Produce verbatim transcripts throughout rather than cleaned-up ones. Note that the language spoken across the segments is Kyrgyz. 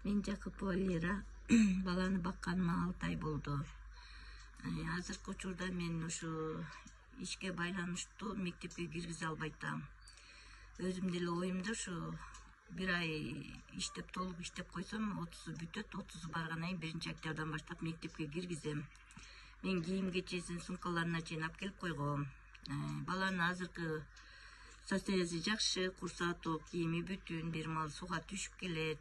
Мен Жакупова Лера. Баланы бакканыма алты ай болду. Азыркы учурда мен ушу ишке байланыштуу мектепке киргизе албай атам. Өзүм деле оюмда ушу бир ай иштеп толук иштеп койсом отузу бүтөт, отузу баргандан кийин биринчи октябрдан баштап мектепке киргизем. Мен кийим кечесин, сумкаларына чейин алып келип койгом. Баланын азыркы состояниясы жакшы, курсагы тоок, кийими бүтүн, бир маал сууга түшүп келет.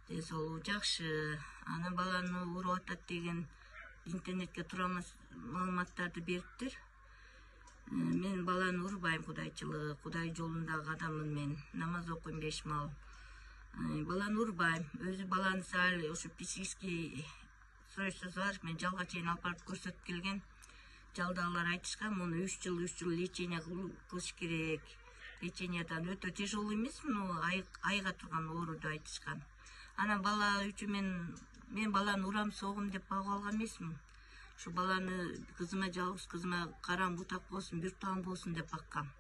Ден соолугу жакшы. Анан баланы уруп атат деген интернетке туура маалыматтарды бериптир. Мен баланы урбайм, кудайчылыгы, Кудай жолундагы адаммын мен. Намаз окуйм беш маал. Баланы урбайм. Өзү баланы сал ушу психический расстройствосу бар. Мен жалга чейин алып барып көрсөтүп келген. Жалдагылар айтышкан, муну үч жыл үч жыл лечение кылыш керек. Лечениядан өтө тяжелый эмес, но айга турган ооруду айтышкан. Анан бала үчүн мен мен баланы урам, согум деп багып алган эмесмин. Ушу баланы кызыма, жалгыз кызыма карам бутак болсун, биртуган болсун деп баккам.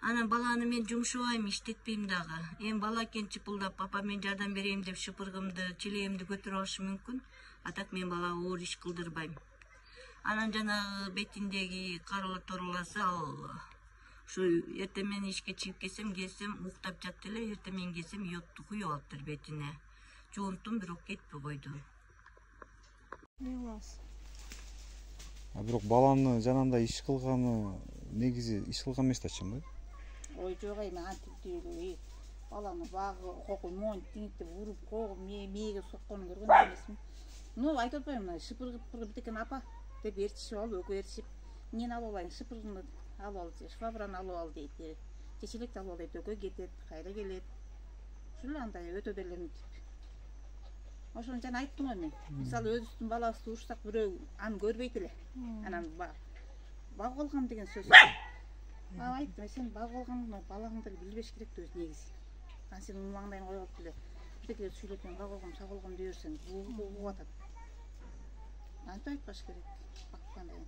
Анан баланы мен жумшабайм, иштетпейм дагы. Эми бала экен чыпылдап, папа мен жардам берейин деп шыпыргымды, чилегимди көтөрүп алышы мүмкүн. А так мен балага оор иш кылдырбайм. Анан жанагы бетиндеги карала торуласы ал ушу эртең менен ишке чыгып келсем, келсем уктап жатты эле, эртең менен келсем йодду куюп алыптыр бетине. Жуунттум, бирок кетпей койду. Эмне кыласыз? А бирок баланы жанагындай иш кылганы негизи иш кылган эмес да чынбы? Ой жок, эми антиптиги баланы багы, кокуй, моюн тиңиктеп уруп когуп, мээге сокконун көргөн эмесмин. Ну, айтып атпаймынбы, шыпыргып битекен апа деп ээрчишип алып, экөө ээрчишип, эмнени алып алайын, шыпыргымды алып ал, швабраны алып ал дейт, чечелекти алып ал дейт, экөө кетет, кайра келет. Ушул эле андай өтө деле мынтип. Ошону жана айттым го мен. Мисалы өзүбүздүн балабызды урушсак, бирөө аны көрбөйт эле. Анан багып алгам деген сөз. Ага айттым, сен багып алгандыгыңды балаңды билбеш керек да өзү негизи. Анан сен муну маңдайын коюп алып эле бирдекелер сүйлөп, мен багып алгам, сагып алгам дей берсең, угуп атат. Антип айтпаш керек. Баккандан кийин.